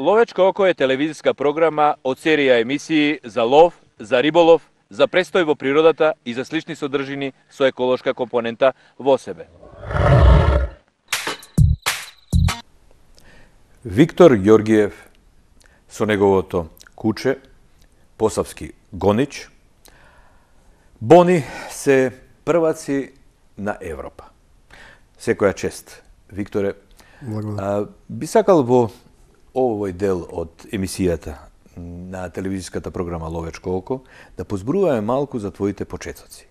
Ловечко око е телевизиска програма од серија емисии за лов, за риболов, за престој во природата и за слични содржини со еколошка компонента во себе. Виктор Ѓоргиев со неговото куче, посавски гонич, Бони се прваци на Европа. Секоја чест, Викторе. Би сакал во овој дел од емисијата на телевизиската програма Ловечко око да позборуваме малку за твоите почетоци.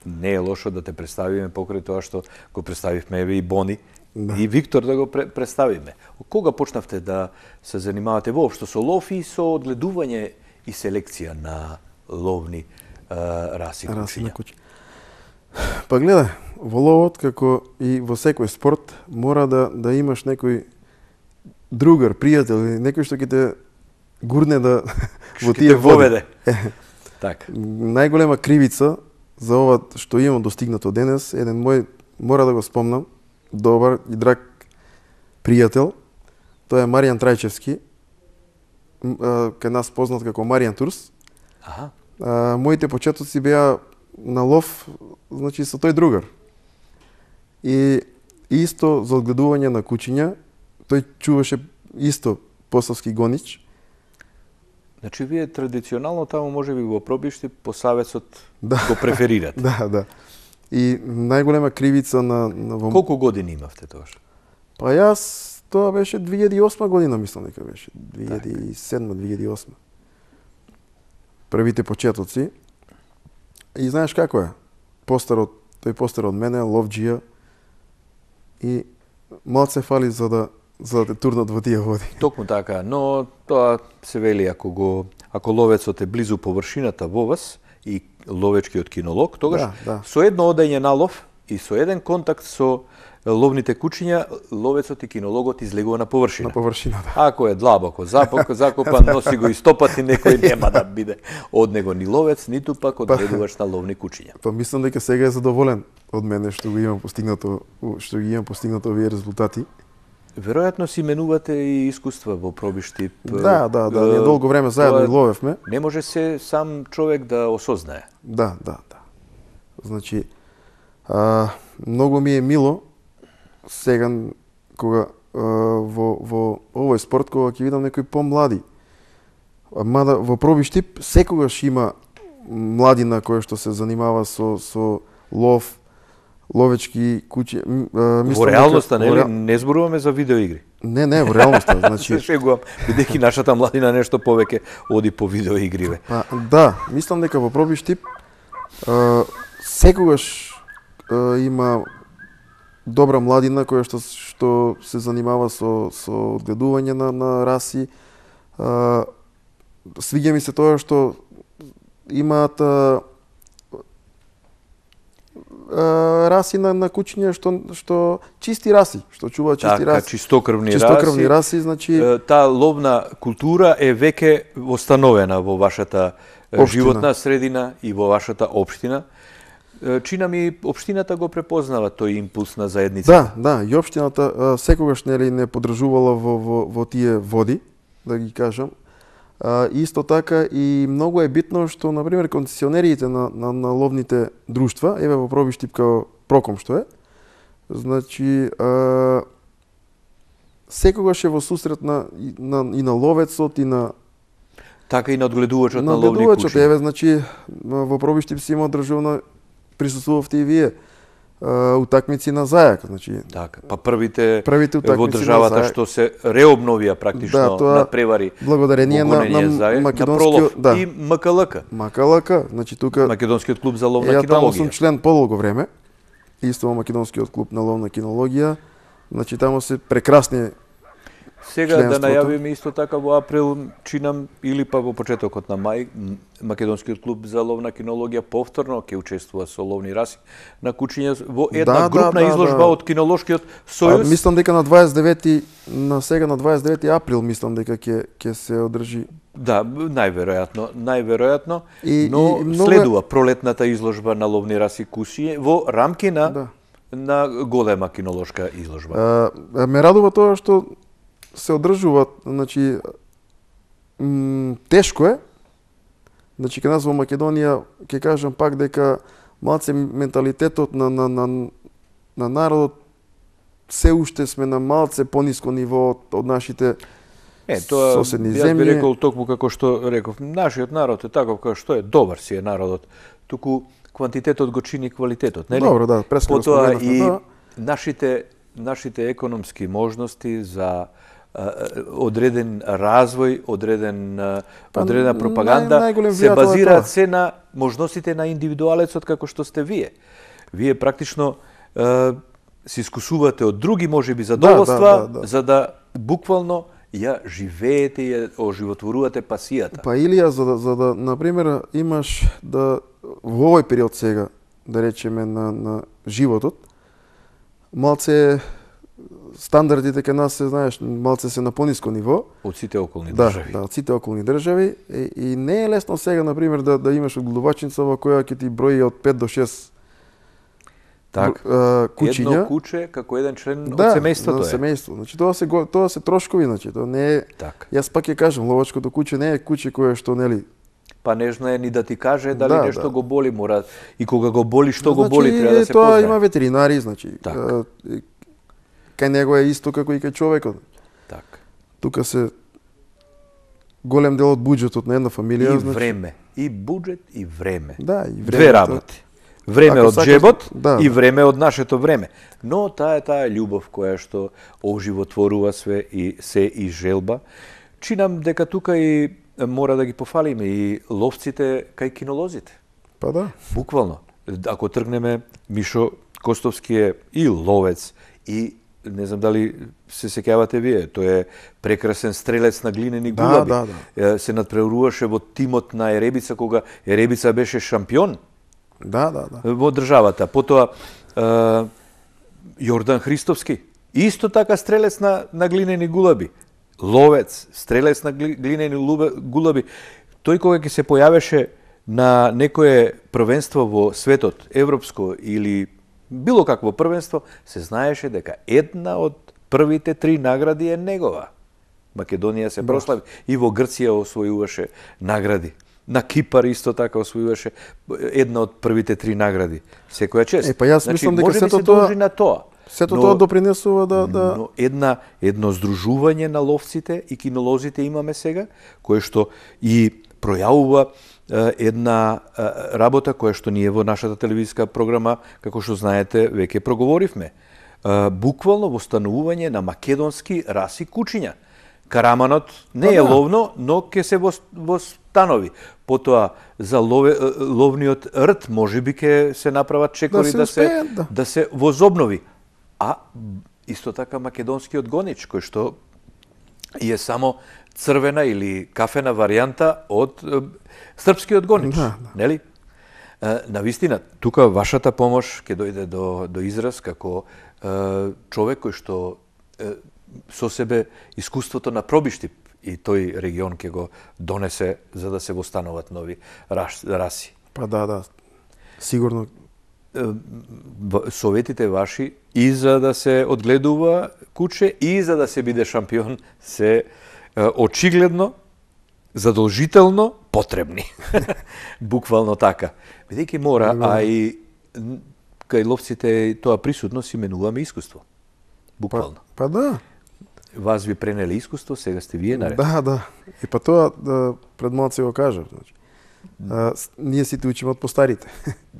Не е лошо да те представиме покрај тоа што го представивме еве и Бони и Виктор да го представиме. Кога почнавте да се занимавате воопшто со лов и со одгледување и селекција на ловни раси кучиња? Па гледај, во ловот, како и во секој спорт, мора да имаш некој другар, пријател, или некој што ќе те гурне да во тие води. Так. Најголема кривица за ова што имам достигнато денес, еден мој, мора да го спомнам, добар и драг пријател, тоа е Маријан Трајчевски, кај нас познат како Маријан Турс. Моите почетоци беа на лов, значи со тој другар. И исто за одгледување на кучиња, тој чуваше исто посавски гонич. Значи вие традиционално таму можеби во Пробишти по саветот го преферирате. Да. И најголема кривица на Колку години имавте тогаш? Па јас тоа беше 2008 година, мислам дека беше 2007-2008. Првите почетоци. И знаеш како е? Тој постар од мене, ловџија, и малце фали за да те турнат во тие води. Токму така, но тоа се вели ако ловецот е близу површината во вас и ловечкиот кинолог, тогаш со едно одење на лов и со еден контакт со ловните кучиња, ловецот и кинологот излегува на површина. На површина, да. Ако е длабоко закопан, носи го истопати, некој нема да биде од него ни ловец, ниту пак одгледувач на ловни кучиња. Па мислам дека сега е задоволен од мене што ги имам постигнато овие резултати. Веројатно си менувате и искуства во Пробишти. Да, ние долго време заедно и ловевме. Не може се сам човек да осознае. Да. Значи, многу ми е мило сега кога во овој спорт, кога ќе видам некои помлади. Мада во Пробишти секогаш има младина која што се занимава со лов, ловечки кучи. Во реалноста, не зборуваме за видеоигри. Не, во реалноста, значи се шегувам, бидејќи нашата младина нешто повеќе оди по видеоигриве. Да, мислам дека во Пробишти секогаш има добра младина која што се занимава со одгледување на раси. Свиѓа ми се тоа што имаат раси на кучиња што чисти раси, што чуваат чисти раси. Чистокрвни раси, значи таа ловна култура е веќе востановена во вашата животна средина и во вашата општина. Чина ми општината го препознава тој импулс на заедницата. Да, и општината секогаш не подржувала во тие води, да ги кажам. Исто така и многу е битно што, например, концесионериите на ловните друштва, еве во Пробишти као Проком што е, значи секогаш е во сусрет и на ловецот и на така и на одгледувачот на ловни кучиња. Еве, значи во Пробишти си има државна, присуствувавте и вие утакмици на зајак, значи така, па првите во утакмици државата што се реобновија практично на превари благодарение на македонскиот и МКЛК, значи тука Македонскиот клуб за ловна кинологија. Таму сум член подолго време, исто во Македонскиот клуб на ловна кинологија, значи таму се прекрасни. Сега да најавиме исто така во април, чинам, или па во почетокот на мај, Македонскиот клуб за ловна кинологија повторно ќе учествува со ловни раси на кучиња во една групна изложба од кинолошкиот сојуз. Мислам дека на 29 април мислам дека ќе се одржи. Да, најверојатно, но следува пролетната изложба на ловни раси кучиња во рамки на голема кинолошка изложба. Ме радува тоа што се одржуваат, значи тешко е. Значи кај нас во Македонија ќе кажам пак дека малце менталитетот на народот се уште сме на малце пониско ниво од нашите соседни земји. Јас би рекол токму како што реков, нашиот народ е таков како што е, добар си е народот. Туку квантитетот го чини квалитетот, нели? Добро, да, преска го Потоа споменавме, и да. нашите економски можности за одреден развој, одредена пропаганда се базираат се на можностите на индивидуалецот како што сте вие. Вие практично се искусувате од други можеби задоволства, за да буквално ја живеете и ја оживотворувате пасијата. Па Илија, за да например имаш да во овој период сега, да речеме на животот, малце стандардите кај нас се, знаеш, малце се на пониско ниво. Од сите околни држави. Да, од сите околни држави. И не е лесно сега, например, да имаш одгледувачница во која ќе ти брои од 5 до 6 кучиња. Едно куче како еден член од семејството е. Да, семејство. Значи тоа се трошкови, значи тоа не е. Так. Јас пак ќе кажам, ловачкото куче не е куче кое што нели па не знае ни да ти каже дали нешто го боли, мора и кога го боли, што го боли, треба да се тоа познае. има ветеринари, значи. Кај него е исто како и кај човекот. Так. Тука се голем дел од буџетот на една фамилија, и време, и буџет и време. Да, и време. Две работи. Време од джебот и да. време од нашето време. Но таа љубов која што оживотворува све и се и желба. Чинам дека тука и мора да ги пофалиме и ловците кај кинолозите. Па да. Буквално. Ако тргнеме, Мишо Костовски е и ловец, и не знам дали се сеќавате вие, тој е прекрасен стрелец на глинени гулаби. Да. Се надпреваруваше во тимот на Еребица, кога Еребица беше шампион. Да. Во државата. Потоа Јордан Христовски, исто така стрелец на глинени гулаби. Ловец, стрелец на глинени гулаби. Тој кога ќе се појавеше на некое првенство во светот, европско или било какво првенство, се знаеше дека една од првите 3 награди е негова. Македонија се прослави и во Грција освојуваше награди. На Кипар исто така освојуваше една од првите 3 награди. Секоја чест. Па јас мислам дека сето тоа на тоа. Сето тоа допринесува да Но едно здружување на ловците и кинолозите имаме сега, кое што и пројавува една работа која што ние во нашата телевизиска програма, како што знаете, веќе проговоривме. Буквално востанување на македонски раси кучиња. Караманот не е ловно, но ќе се востанови. Потоа за ловниот рт можеби ќе се направат чекори да се возобнови. А исто така македонскиот гонич, кој што е само црвена или кафена варијанта од српскиот гонич, нели? Навистина, тука вашата помош ќе дојде до израз како човек кој што со себе искуството на пробиштип и тој регион ќе го донесе за да се востануваат нови раси. Па да, сигурно. Советите ваши и за да се одгледува куче и за да се биде шампион се очигледно, задолжително потребни. Буквално така. Бидејќи мора, а и кај ловците тоа присутно си менуваме искуство. Буквално. Па да. Вас ви пренели искуство, сега сте вие наред. Да. И па тоа пред малце го кажав, значи. Ние сите учиме од постарите.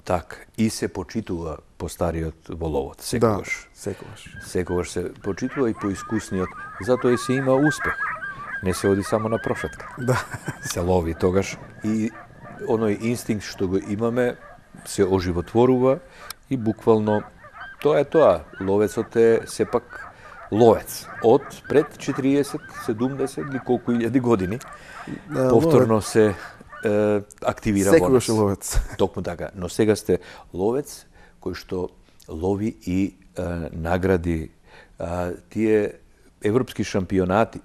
Так, и се почитува постариот во ловот, секогаш. Да, секогаш. Секогаш се почитува и поискусниот, затоа и се има успех. Не се оди само на прошетка. Да. Се лови тогаш и оној инстинкт што го имаме се оживотворува и буквално тоа е тоа. Ловецот е сепак ловец од пред 40, 70 или колку илјади години. Повторно се активира во нас. Секогаш е ловец. Токму така. Но сега сте ловец кој што лови и награди. Тие европски шампионати,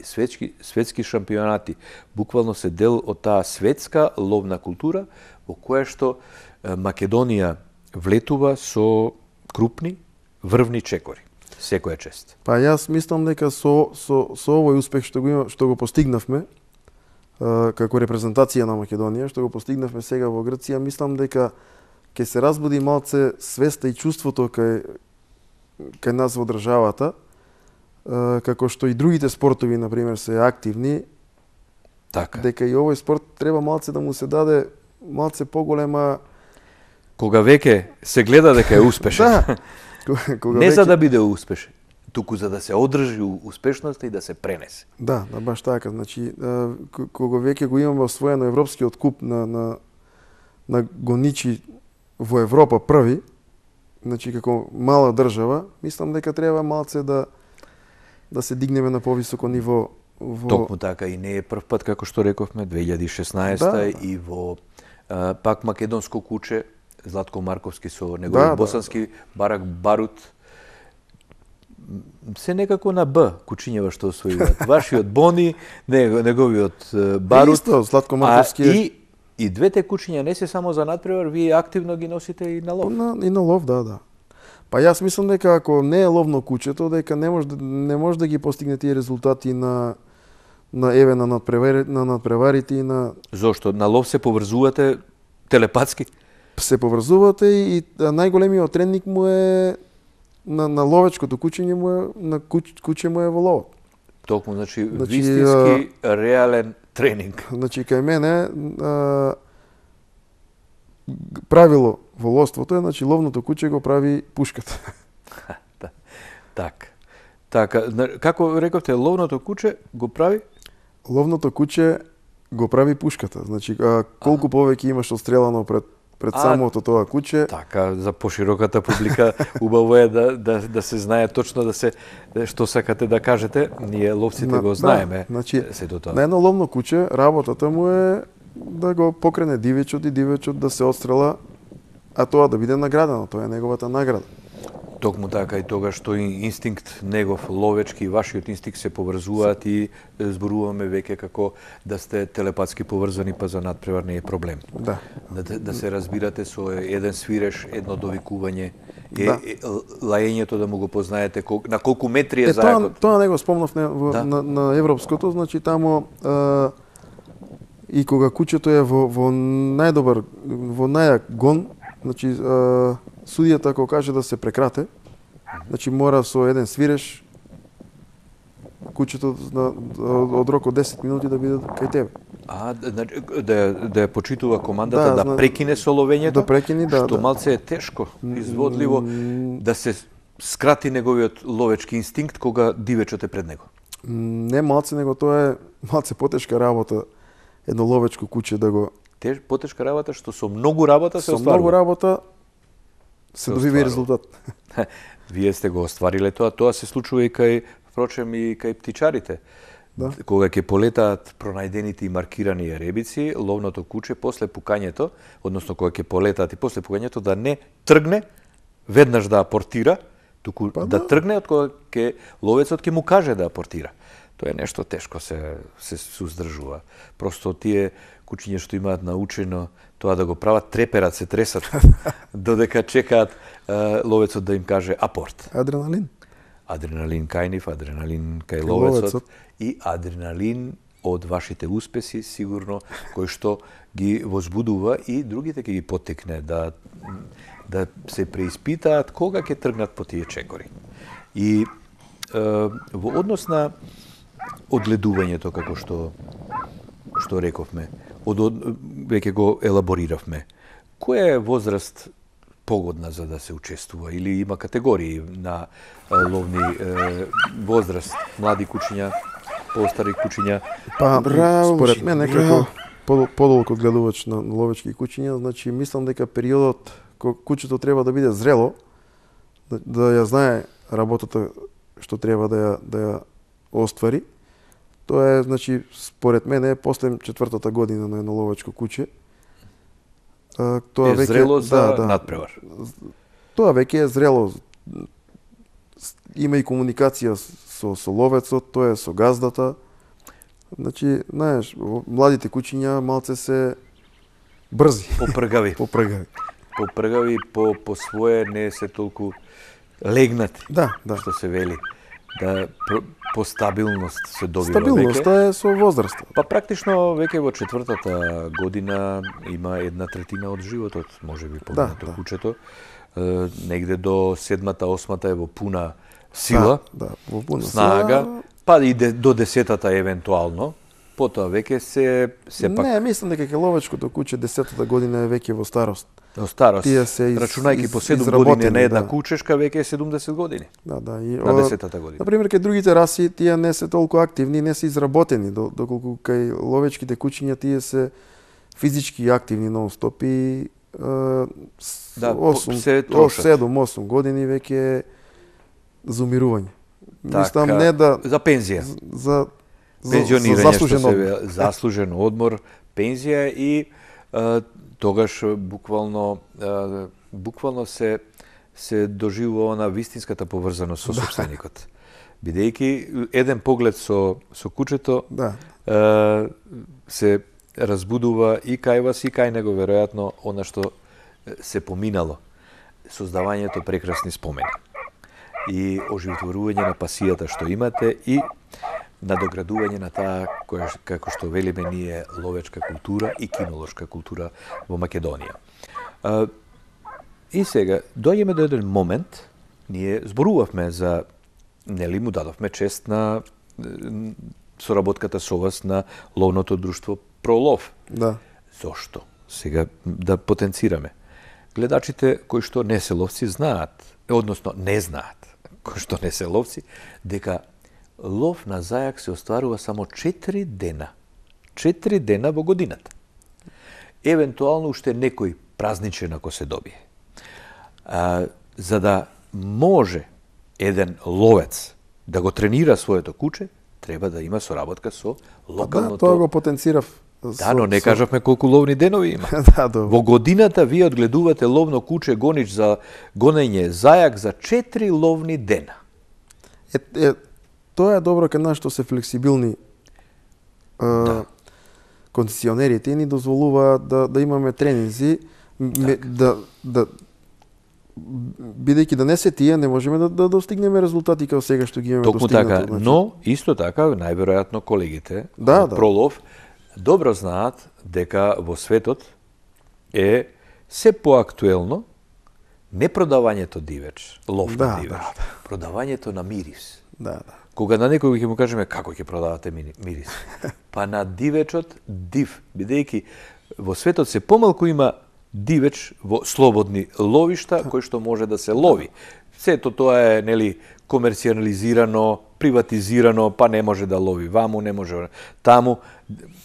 светски шампионати, буквално се дел од таа светска ловна култура во која што Македонија влетува со крупни врвни чекори. Секоја чест. Па јас мислам дека со овој успех што го постигнавме како репрезентација на Македонија, што го постигнавме сега во Грција, мислам дека ќе се разбуди малце свеста и чувството кај нас во државата, како што и другите спортови, например, се активни, Така. дека и овој спорт треба малце да му се даде малце поголема... Кога веќе се гледа дека е успешен. Да. Не за да биде успешен, туку за да се одржи успешноста и да се пренесе. Да, баш така. Значи, кога веќе го имаме освоено европскиот куп на гоничи во Европа први, значи како мала држава, мислам дека треба малце да се дигнеме на повисоко ниво Токму така, и не е прв пат, како што рековме, 2016 Да. и во пак македонско куче, Златко Марковски со неговиот босански барак Барут, се некако на Б кучињева што освојуваат. Вашиот Бони, неговиот Барут, Исто, Златко Марковски и двете кучиња не се само за надпревар, вие активно ги носите и на лов. И на лов, да. Па јас мислам дека ако не е ловно кучето, дека не може да ги постигне тие резултати на надпреварите и на... Зошто? На лов се поврзувате телепатски? Се поврзувате и најголемиот тренинг му е на ловечкото кучиње му е, на куче му е во ловот. Токму, значи вистински реален тренинг. Значи кај мене правило во ловството е, значи ловното куче го прави пушката. Така, како рековте, ловното куче го прави? Ловното куче го прави пушката. Значи колку повеќе имаш отстрелано пред самото тоа куче. Така, за пошироката публика убаво е да се знае точно што сакате да кажете. Ние ловците го знаеме. Значи, сето тоа. На едно ловно куче работата му е да го покрене дивечот и дивечот да се отстрела, а тоа да биде наградено, тоа е неговата награда. Токму така, и тогаш што инстинкт негов ловечки и вашиот инстинкт се поврзуваат и зборуваме веќе како да сте телепатски поврзани, па за надпревар не е проблем. Да. Да се разбирате со еден свиреш, едно довикување, Да. лаењето да му го познаете, на колку метри е зајакот. Тоа не го спомнав на европското, значи тамо и кога кучето е во најдобар, во најак гон, значи судијата ако каже да се прекрате, значи мора со еден свиреш кучето од рок од 10 минути да биде кај тебе. Да ја почитува командата да прекине со ловењето, да прекини, што малце е тешко, изводливо, да се скрати неговиот ловечки инстинкт кога дивечот е пред него. Не малце, него тоа е малце потешка работа, едно ловечко куче да го... Потешка работа, што со многу работа се остварува. Со многу работа се добива и резултат. Вие сте го оствариле тоа се случува и кај, впрочем, и кај птичарите. Да. Кога ќе полетаат пронајдените и маркирани еребици, ловното куче после пукањето, односно кога ќе полетаат и после пукањето, да не тргне, веднаш да апортира, туку да тргне од кога ловецот ќе му каже да апортира. Тоа е нешто тешко се уздржува. Просто тие кучиња што имаат научено тоа да го прават, треперат, се тресат, додека чекаат ловецот да им каже апорт. Адреналин. Адреналин кај нив, адреналин кај ловецот и адреналин од вашите успеси, сигурно, кој што ги возбудува и другите ќе ги поттикне да се преиспитаат кога ќе тргнат по тие чекори. И во однос на одгледувањето, како што рековме, веќе го елабориравме. Која е возраст погодна за да се учествува или има категории на ловни возраст, млади кучиња, постари кучиња? Па, според мен некако подолг одгледувач на ловечки кучиња, значи мислам дека периодот кога кучето треба да биде зрело, да ја знае работата што треба да ја оствари. Тоа е, значи, според мене, после 4-та година на едно ловечко куче. Тоа е зрело за надпревар. Тоа веќе е зрело. Има и комуникација со ловецот, тоа е со газдата. Значи, знаеш, младите кучиња малце се брзи. Попргави. Попргави. Попргави, по свое не се толку легнати, Да, да. што се вели, да по стабилност се добива Стабилноста е со возраста. Па практично веќе во 4-та година има 1/3 од животот, можеби поминато кучето. Негде до 7-та, 8-та е во пуна сила, во пуна снага, сила. па и до 10-та евентуално. Потоа веќе се пак... Не, мислам дека ловечкото куче 10-та година е веќе во старост. Во старост, Тие се рачунајќи по 7 години на една кучешка, веќе е 70 години. Да, и на 10-та година. Например, кај другите раси тие не се толку активни, не се изработени, доколку кај ловечките кучиња тие се физички активни нон-стоп и 7-8 години веќе за умирување. Мислам не да за пензија. За пензионирање, заслужен одмор, пензија и тогаш буквално се доживува на вистинската поврзаност со собственикот. Бидејќи еден поглед со кучето се разбудува и кај вас и кај него веројатно она што се поминало. Создавањето прекрасни спомени и оживотворување на пасијата што имате и надоградување на таа како што велиме ние ловечка култура и кинолошка култура во Македонија. И сега доаѓаме до еден момент, ние зборувавме за, нели му дадовме чест на соработката со вас на ловното друштво Пролов. Да. Зошто? Сега да потенцираме. Гледачите кои што не се ловци знаат, односно не знаат, кои што не се ловци, дека лов на зајак се остварува само 4 дена. 4 дена во годината. Евентуално уште некој празничен ако се добие. За да може еден ловец да го тренира своето куче, треба да има соработка со локалното... Да, тоа го потенцирав. Да, но не кажавме колку ловни денови има. Во годината вие одгледувате ловно куче гонич за гонење зајак за 4 ловни дена. Тоа е добро кај нас што се флексибилни концесионерите и ни дозволуваат да имаме тренинзи, бидејќи да не се тие, не можеме да достигнеме резултати како сега што ги имаме достигнато. Токму така, но исто така најверојатно колегите од Пролов добро знаат дека во светот е се поактуелно не продавањето дивеч, лов на дивеч, продавањето на мирис. Кога на некој ќе му кажеме како ќе продавате мирис, па на дивечот див, бидејќи во светот се помалку има дивеч во слободни ловишта кој што може да се лови. Сето тоа е нели комерцијализирано, приватизирано, па не може да лови ваму, не може таму.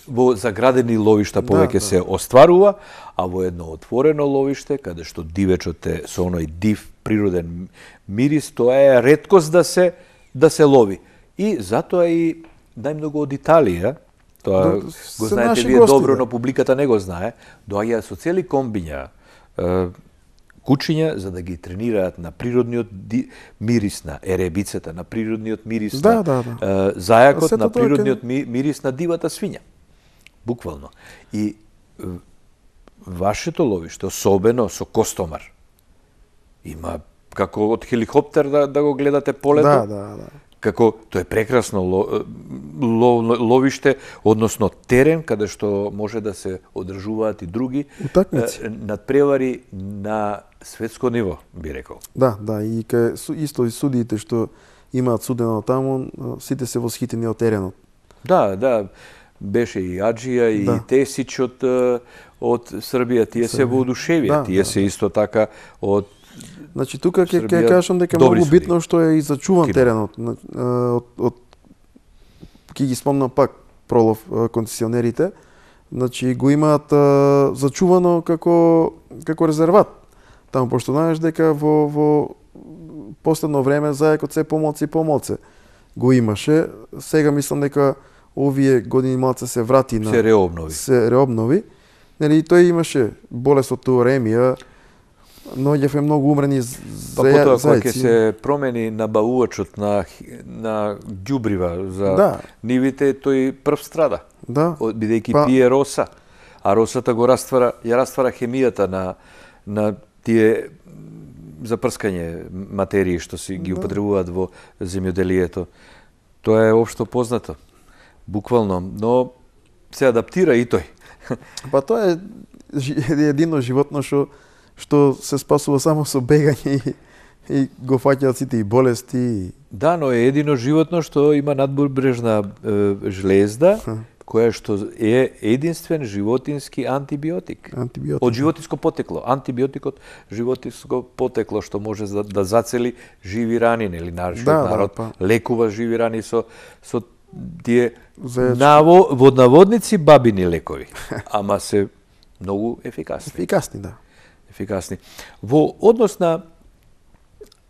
Во заградени ловишта повеќе се остварува, а во едно отворено ловиште, каде што дивечот е со оној див природен мирис, тоа е реткост да се лови. И затоа и најмногу од Италија, тоа го знаете вие добро, но публиката не го знае, доаѓаат со цели комбиња кучиња за да ги тренираат на природниот мирис на еребицата, на природниот мирис на зајакот, на природниот мирис на дивата свиња. Буквално. И вашето ловиште, особено со Костомар, има како од хеликоптер да го гледате полето. Како тоа е прекрасно ловиште, односно терен каде што може да се одржуваат и други надпревари на светско ниво, би рекол. Да, и исто и судиите што имаат судено таму, сите се восхитени од теренот. Да, беше и Аджија и Тесич од Србија, тие се воодушевија, тие се исто така од Значи тука ќе кажам дека многу битно што е и зачуван теренот. Ќе ги спомнам пак Пролов концесионерите, значи го имаат зачувано како резерват. Таму пошто знаеш дека во последно време зајакот се помалце го имаше. Сега мислам дека овие години малце се врати на се реобнови. Нели тој имаше болест од туремија, наоѓавме многу умрени зајаци. Потоа кога ќе се промени набавувачот на ѓубрива за нивите, тој прв страда. Бидејќи пие роса, а росата ја раствара хемијата на тие за прскање материи што си ги употребуваат во земјоделието. Тоа е општо познато, буквално, но се адаптира и тој. Па тоа е едино животно што се спасува само со бегање и го фаќаат сите и болести. Да, но е едино животно што има надбрежна жлезда, која што е единствен животински антибиотик. Од животинско потекло. Антибиотик од животинско потекло што може да зацели живи рани, нели нашиот народ лекува живи рани со тие во наводници бабини лекови, ама се многу ефикасни. Ефикасни, да. Ефикасни. Во однос на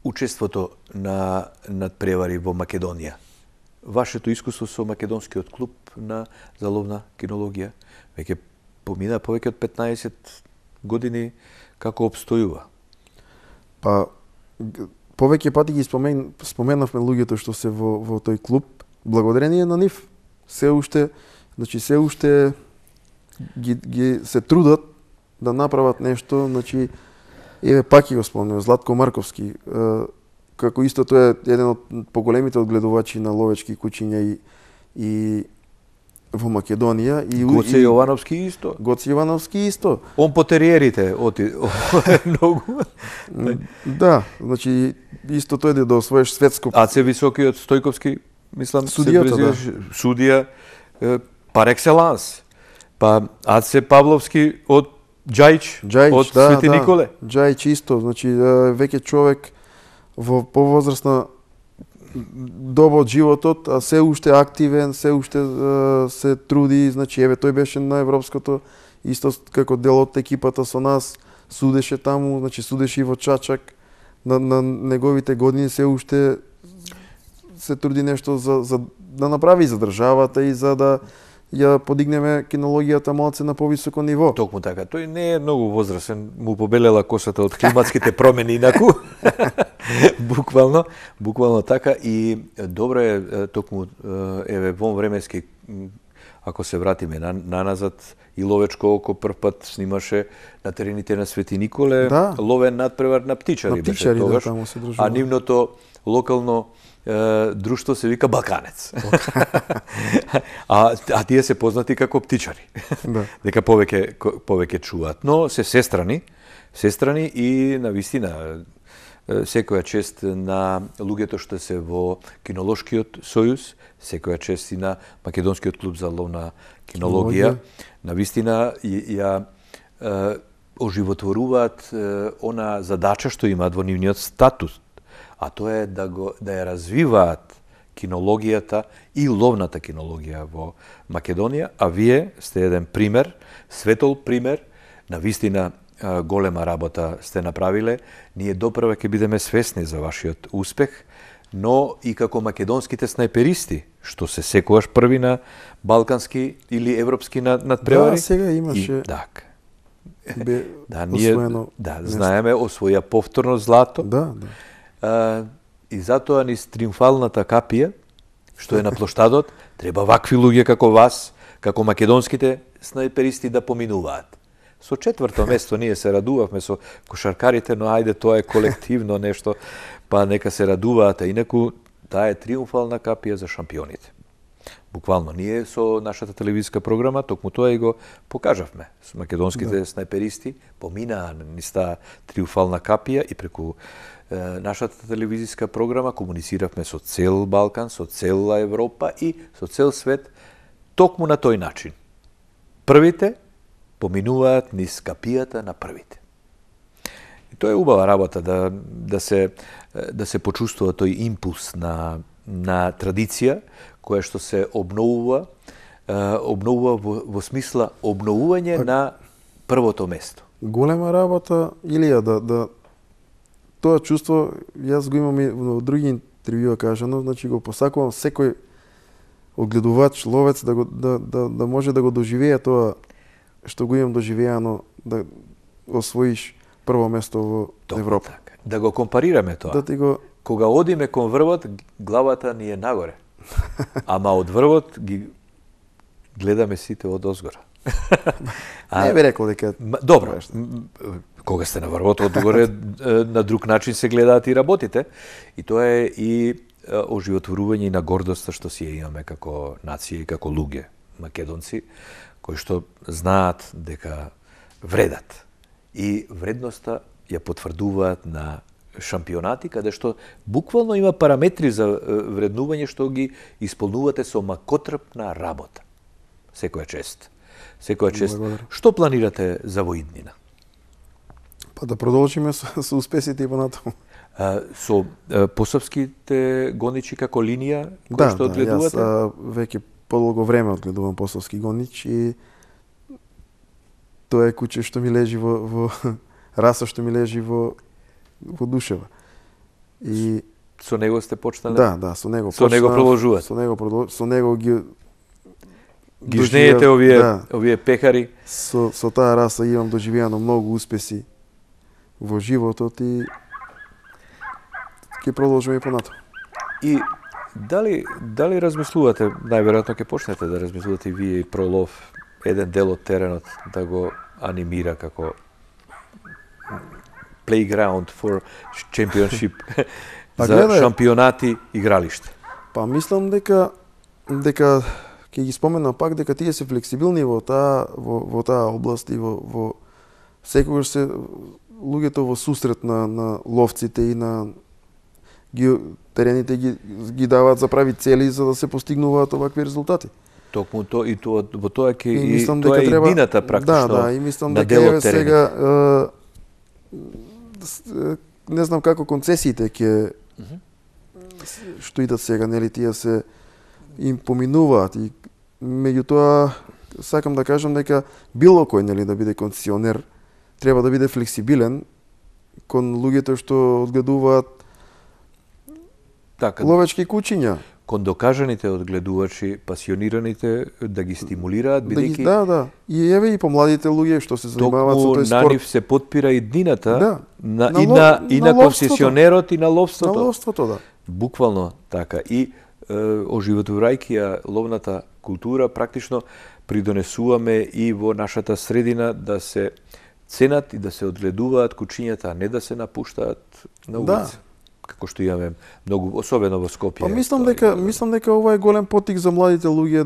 учеството на надпревари во Македонија, вашето искуство со македонскиот клуб за ловна кинологија веќе помина повеќе од 15 години, како обстојува? Па повеќе пати ги споменавме луѓето што се во тој клуб. Благодарение на нив се уште ги се трудат да направат нешто, значи еве пак ги го спомнувам Златко Марковски, како исто тој е еден од поголемите одгледувачи на ловечки кучиња и во Македонија и Гоце Јовановски исто. Гоце Јовановски исто. Он по териерите оти многу. Да, значи исто тој да освоиш светско. Аце Високиот Стојковски, мислам, судијата, да. Судија пар екселанс. Па Аце Павловски од Џајич, од Свети Николе. Џајич исто, значи веќе човек во повозрастна доба од животот, а се уште активен, се уште се труди, значи еве тој беше на европското исто како дел од екипата со нас, судеше таму, значи судеше и во Чачак на неговите години, се уште се труди нешто за да направи за државата и за да ја подигнеме кинологијата малце на повисоко ниво. Токму така. Тој не е многу возрасен, му побелела косата од климатските промени инаку. Буквално така и добро е токму еве во временски, ако се вратиме наназад, и Ловечко око прв пат снимаше на терените на Свети Николе, ловен надпревар на птичари беше тогаш, а нивното локално друштво се вика Балканец. а тие се познати како птичари. Дека повеќе чуваат. Но се сестрани и навистина секоја чест на луѓето што се во Кинолошкиот сојуз, секоја чест и на Македонскиот клуб за ловна кинологија. Навистина ја оживотворуваат она задача што имаат во нивниот статус, а тоа е да ја развиваат кинологијата и ловната кинологија во Македонија, а вие сте еден пример, светол пример, навистина голема работа сте направиле. Ние допрва ќе бидеме свесни за вашиот успех, но и како македонските снајперисти, што се секогаш први на балкански или европски надпревари. Да, сега имаше. Ние знаеме, освоја повторно злато. И затоа низ триумфалната капија, што е на плоштадот, треба вакви луѓе како вас, како македонските снајперисти да поминуваат. Со четврто место ние се радувавме со кошаркарите, но ајде тоа е колективно нешто, па нека се радуваат, а инаку таа е триумфална капија за шампионите. Буквално, ние со нашата телевизиска програма токму тоа и го покажавме. Со македонските снајперисти поминаа низ таа триумфална капија и преку нашата телевизиска програма комунициравме со цел Балкан, со цела Европа и со цел свет токму на тој начин. Првите поминуваат низ капијата на првите. И тоа е убава работа да се почувствува тој импулс на традиција која што се обновува во смисла обновување на првото место. Голема работа, Илија, да тоа чувство јас го имам и во други интервјуа кажано, значи го посакувам секој одгледувач, ловец да може да го доживее тоа што го имам доживеано, да освоиш прво место во Европа. Така. Да го компарираме тоа. Кога одиме кон врвот, главата ни е нагоре. Ама од врвот ги гледаме сите од озгора. Не би рекол дека... Добро, Кога сте на врвот, одгоре на друг начин се гледаат и работите. И тоа е и оживотворување на гордоста што си ја имаме како нација и како луѓе, македонци, кои што знаат дека вредат. И вредноста ја потврдуваат на шампионати, каде што буквално има параметри за вреднување што ги исполнувате со макотрпна работа. Секоја чест. Секоја чест. Што планирате за во иднина? Па да продолжиме со успесите и понатаму. Со посавските гоничи како линија кој што одгледувате? Јас веќе подолго време одгледувам посавски гонич и тоа е куќе што ми лежи во раса што ми лежи во душева. И со него сте почнали? Да, со него почнав. Со него продолжувате? Со него ги жнеете овие пекари? Со таа раса имам доживеано многу успеси во животот и ќе продолжиме и понатаму. И дали размислувате, најверојатно ќе почнете да размислувате и вие и Пролов, еден дел од теренот да го анимира како playground for championship за шампионати игралиште? Па мислам дека ќе ги споменам пак дека тие се флексибилни во таа област и во секогаш се луѓето во сусрет на ловците и на терените ги даваат за прави цели за да се постигнуваат овакви резултати. Токму тоа и тоа во тоа ќе и тоа е иднината практично. Да, и мислам дека еве сега не знам како концесиите ќе што идат сега, нели тие се им поминуваат и меѓутоа сакам да кажам дека било кој нели да биде концесионер треба да биде флексибилен кон луѓето што одгледуваат ловечки кучиња. Кон докажаните одгледувачи, пасионираните да ги стимулираат бидејќи Да. И еве и помладите луѓе што се занимаваат со тој спорт. На нив се подпира иднината и на концесионерот и на ловството. На ловството, да. Буквално така. И оживотворајќи ја ловната култура, практично придонесуваме и во нашата средина да се ценат и да се одгледуваат кучињата, а не да се напуштаат на улица. Како што имаме многу, особено во Скопје. Па мислам дека ова е голем потик за младите луѓе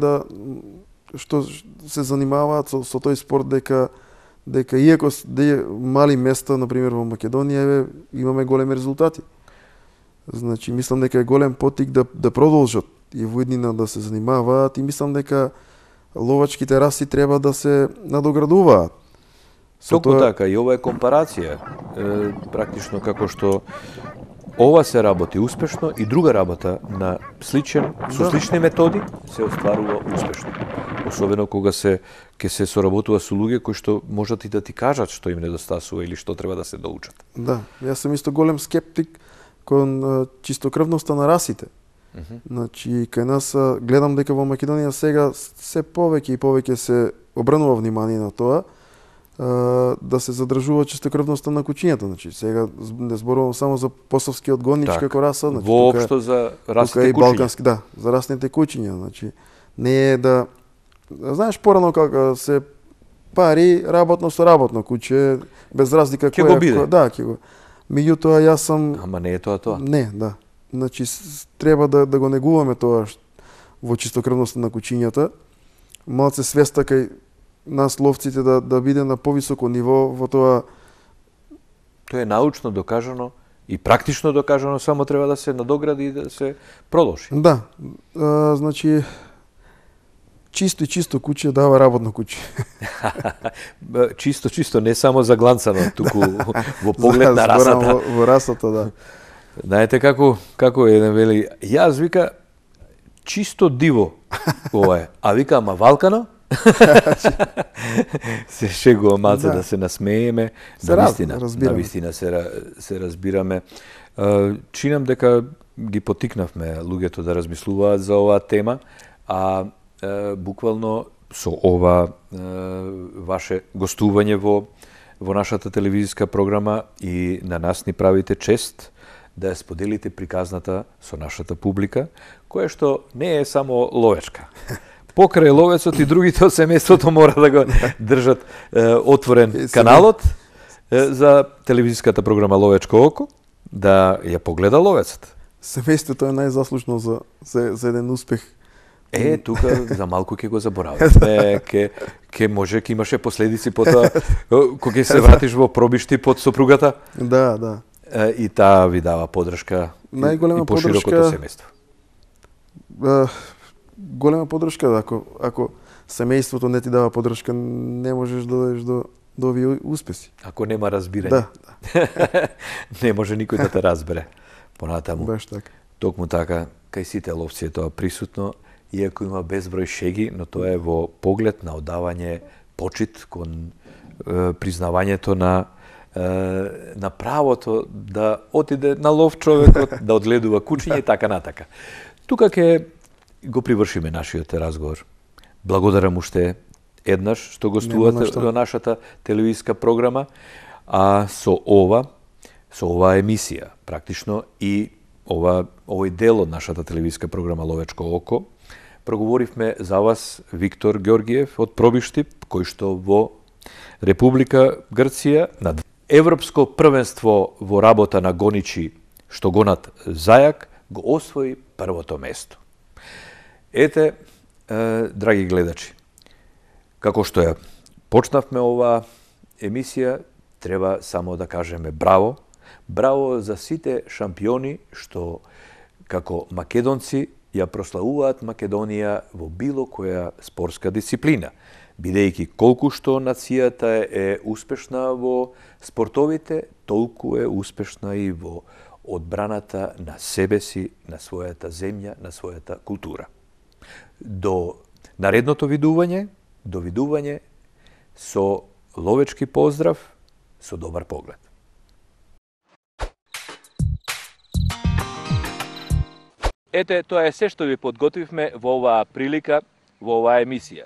што се занимаваат со тој спорт дека иако мали места, например во Македонија, имаме големи резултати. Значи мислам дека е голем потик да продолжат и во иднина да се занимаваат и мислам дека ловачките раси треба да се надоградуваат. Токму така, и ова е компарација. Практично како што ова се работи успешно и друга работа со слични методи се остварува успешно. Особено кога ќе се соработува со луѓе кои што можат и да ти кажат што им недостасува или што треба да се доучат. Да, јас сум исто голем скептик кон чистокрвноста на расите. Значи, кај нас гледам дека во Македонија сега се повеќе и повеќе се обрнува внимание на тоа да се задржува чистокрвноста на кучињата. Значи, сега не зборувам само за посавскиот гонич како раса, значи воопшто за расните кучиња. Балкански, да, за расните кучиња, значи не е да знаеш порано како се пари работно со работно куче без разлика кој го биде. Да, ќе го. Меѓутоа јас сум Ама не е тоа. Не, да. Значи треба да го негуваме тоа во чистокрвноста на кучињата. Малце свеста кај нас ловците да биде на повисоко ниво во тоа. Тоа е научно докажано и практично докажано, само треба да се надогради и да се продолжи. Да. Значи чисто куче дава работно куче. Чисто, не само загланцано, туку во поглед на расата. Во расата, да. Знаете како еден вели, јас вика чисто диво ова е, а вика ама валкано? Се шегува малце да се насмееме, навистина се разбираме. Чинам дека ги потикнавме луѓето да размислуваат за оваа тема, а буквално со ова ваше гостување во нашата телевизиска програма и на нас ни правите чест да ја споделите приказната со нашата публика, која што не е само ловечка. Покрај ловецот и другите од семејството мора да го држат отворен каналот за телевизиската програма Ловечко око, да ја погледа ловецот. Семејството е најзаслужно за еден успех. Тука за малку ќе го забораваме, ќе имаше последици потоа кога ќе се вратиш во пробишти под сопругата. Да. И таа ви дава поддршка и поширокото семејство. Голема поддршка, ако семејството не ти дава поддршка, не можеш да дојдеш до овие успеси. Ако нема разбирање. Да. Не може никој да те разбере. Понатаму. Баш така. Токму така, кај сите ловци е тоа присутно, иако има безброј шеги, но тоа е во поглед на одавање почит кон признавањето на правото да отиде на лов човекот, да одгледува кучиња и така натака. Тука ќе го привршиме нашиот разговор. Благодарам уште еднаш што гостувате во нашата телевизиска програма, а со оваа емисија, практично и овој дел од нашата телевизиска програма Ловечко око, проговоривме за вас Виктор Ѓоргиев од Пробишти, кој што во Република Грција на Европско првенство во работа на гоничи што гонат зајак го освои првото место. Ете, драги гледачи, како што ја почнавме оваа емисија, треба само да кажеме браво. Браво за сите шампиони што како македонци ја прославуваат Македонија во било која спортска дисциплина, бидејќи колку што нацијата е успешна во спортовите, толку е успешна и во одбраната на себе си, на својата земја, на својата култура. До наредното видување со ловечки поздрав, со добар поглед. Ете, тоа е се што ви подготвивме во оваа прилика, во оваа емисија.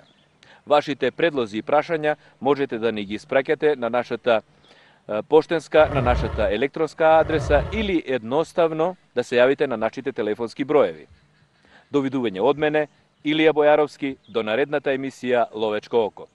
Вашите предлози и прашања можете да ни ги испраќате на нашата поштенска, на нашата електронска адреса или едноставно да се јавите на нашите телефонски броеви. До видување од мене, Илија Бојаровски, до наредната емисија Ловечко око.